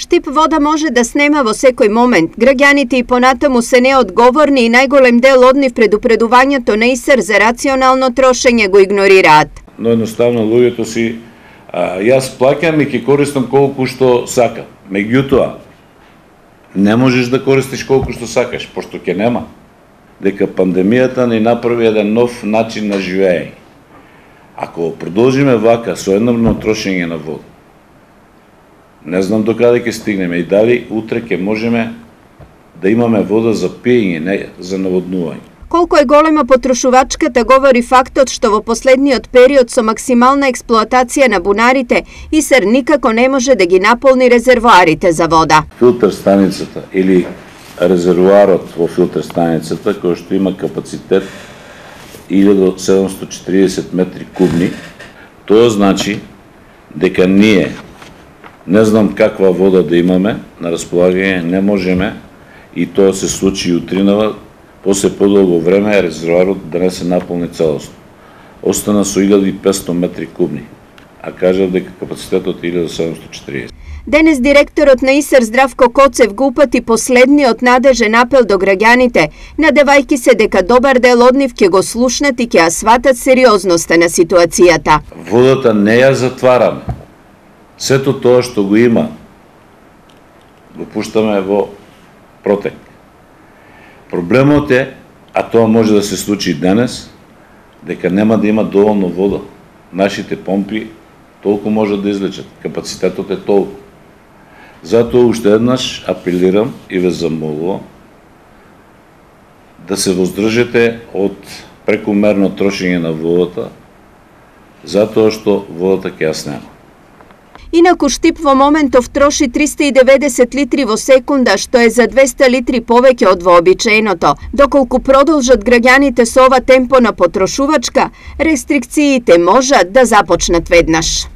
Штип вода може да снема во секој момент. Граѓаните и понатаму се неодговорни и најголем дел од нив предупредувањето на ИСР за рационално трошење го игнорираат. Но едноставно луѓето си јас плаќам и ќе користам колку што сакам. Меѓутоа, не можеш да користиш колку што сакаш, пошто ќе нема. Дека пандемијата ни направи еден нов начин на живење. Ако продолжиме вака со едномерно трошење на вода, не знам до каде ќе стигнеме и дали утре ќе можеме да имаме вода за пиење, не за наводнување. Колку е голема потрошувачката говори фактот што во последниот период со максимална експлоатација на бунарите, ИСР никако не може да ги наполни резервоарите за вода. Филтер станицата или резервоарот во филтер станицата, кој што има капацитет 1740 метри кубни, тоа значи дека ние не знам каква вода да имаме на располагање, не можеме, и тоа се случи утринава, после подолго време резервоарот да не се наполни целосно. Остана со 1500 метри кубни, а кажав дека капацитетот е 1740. Денес директорот на ИСР Здравко Коцев го упати последниот надежен апел до граѓаните, надевајќи се дека добар дел од нив ќе го слушнат и ќе ја сватат сериозноста на ситуацијата. Водата не ја затвараме. Сето тоа што го има, го пуштаме во протек. Проблемот е, а тоа може да се случи денес, дека нема да има доволно вода. Нашите помпи толку можат да излечат, капацитетот е толку. Затоа уште еднаш апелирам и ве замолувам да се воздржите од прекумерно трошење на водата, затоа што водата ќе ја снема. Инаку Штип во моментов троши 390 литри во секунда, што е за 200 литри повеќе од вообичаеното. Доколку продолжат граѓаните со ова темпо на потрошувачка, рестрикциите можат да започнат веднаш.